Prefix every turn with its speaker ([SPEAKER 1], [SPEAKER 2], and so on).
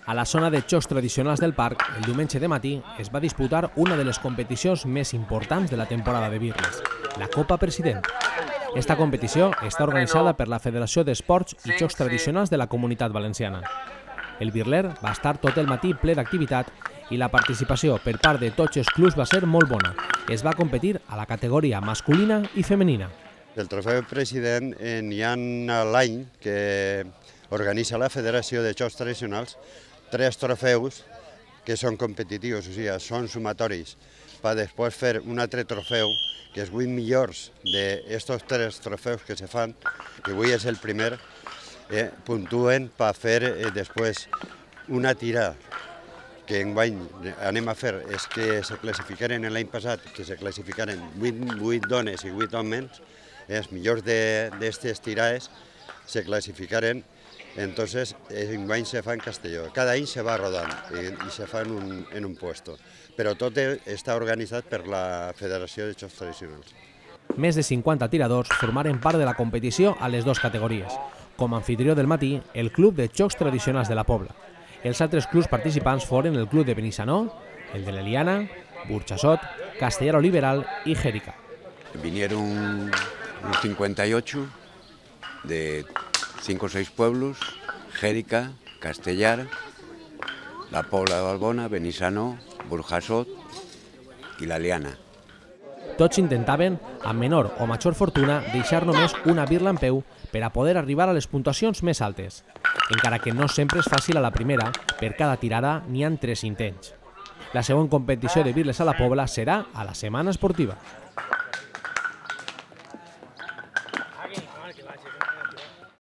[SPEAKER 1] A la zona de xocs tradicionals del parc, el diumenge de matí es va disputar una de les competicions més importants de la temporada de birles, la Copa President. Esta competició està organitzada per la Federació d'Esports i Xocs Tradicionals de la Comunitat Valenciana. El birler va estar tot el matí ple d'activitat i la participació per part de tots els clubs va ser molt bona. Es va competir a la categoria masculina i femenina.
[SPEAKER 2] El trofeu President n'hi ha l'any que organitza la Federació de Jocs Tradicionals 3 trofeus que són competitius, o sigui, són sumatoris, per després fer un altre trofeu que els 8 millors d'aquests 3 trofeus que se fan, que avui és el primer, puntuen per fer després una tirada que enguany anem a fer és que se classificaren l'any passat, que se classificaren 8 dones i 8 homes, els millors d'aquestes tirades se classificaren. Entonces, enguany se fa en Castelló. Cada any se va rodant i se fa en un puesto, però tot està organitzat per la Federació de Jocs Tradicionals.
[SPEAKER 1] Més de 50 tiradors formaren part de la competició a les dues categories. Com a anfitrió del matí, el Club de Jocs Tradicionals de la Pobla. Els altres clubs participants foren el Club de Benissanó, el de l'Eliana, Burxassot, Castellar Liberal i Jérica.
[SPEAKER 3] Vinieron 58 de 5 o 6 pueblos: Jérica, Castellar, la Pobla de Balbona, Benissanó, Burxassot i l'Eliana.
[SPEAKER 1] Tots intentaven, amb menor o major fortuna, deixar només una birla en peu per a poder arribar a les puntuacions més altes. Encara que no sempre és fàcil a la primera, per cada tirada n'hi ha 3 intents. La següent competició de birles a la Pobla serà a la Setmana Esportiva.